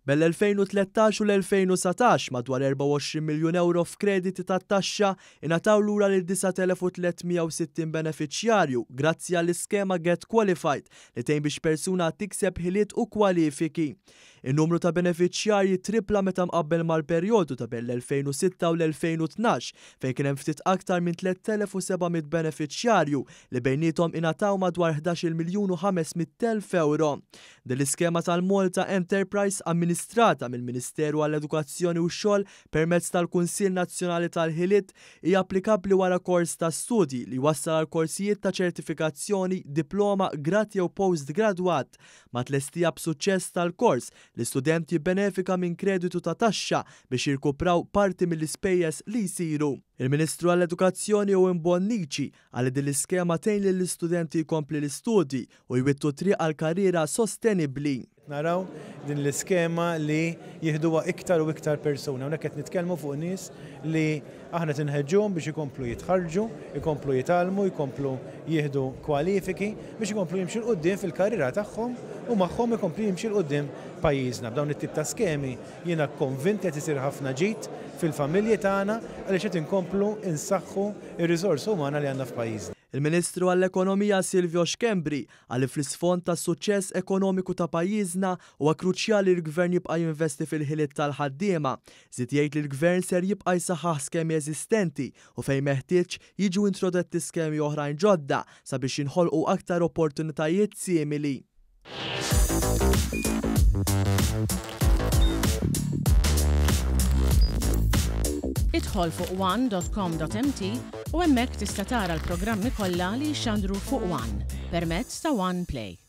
Bejn l-2013 u l-2019, madwar 24 miljun ewro f'krediti tat-taxxa ingħataw lura lil 9,360 benefiċjarju grazzi għall-iskema Get Qualified li tgħin biex persuna tikseb ħiliet u kwalifiki. In-numru ta' benefiċjarji trippla meta mqabbel mal-perjodu ta' bejn l-2006 u l-2012 fejn kien hemm ftit aktar minn 3,700 benefiċjarju li bejniethom ingħataw madwar 11-il miljun u 500,000 ewro. Din l-iskema tal-Malta Enterprise amministrata mill-Ministeru għall-Edukazzjoni u x-Xogħol permezz tal-Kunsill Nazzjonali tal-Ħiliet hija applikabbli wara kors ta' studji li jwassal għal korsijiet ta' ċertifikazzjoni, diploma, grad jew postgradwat. Mat-tlestija b'suċċess tal-kors, l-istudent jibbenefika minn kreditu ta' taxxa biex jirkupraw parti mill-ispejjeż li jsiru. Il-Ministru għall-Edukazzjoni Owen Bonnici qal li din l-iskema tgħin lill-istudenti jkompli l-istudji u jwittu t-triq għal karriera sostenibbli. Qed naraw din l-iskema li jieħduha iktar u iktar persuni. Hawnhekk qed nitkellmu fuq nies li aħna qed inħeġġuhom biex ikomplu jitħarrġu, ikomplu jitgħallmu, jkomplu jieħdu kwalifiki biex ikomplu jimxu 'l quddiem fil-karriera tagħhom u magħhom ikompli jimxi 'l quddiem pajjiżna. B'dawn it-tip ta' skemi jiena konvint li qed isir ħafna ġid fil-familji tagħna għaliex qed inkomplu nsaħħu r-riżorsa umana li għandna f'pajjiżna. Il-Ministru għall-Ekonomija Silvio Schembri Qal li fl-isfond tas-suċċess ekonomiku ta' pajjiżna, huwa kruċjali li l-Gvern jibqa' jinvesti fil-ħiliet tal-ħaddiema. Żied jgħid li l-Gvern ser jibqa' jsaħħaħ skemi eżistenti u fejn meħtieġ, jiġu introdetti skemi oħrajn ġodda sabiex jinħolqu aktar opportunitajiet simili. Idħol fuq one.com.mt u hemmhekk tista' tara l-programmi kollha li jixxandru fuq One permezz ta' One Play.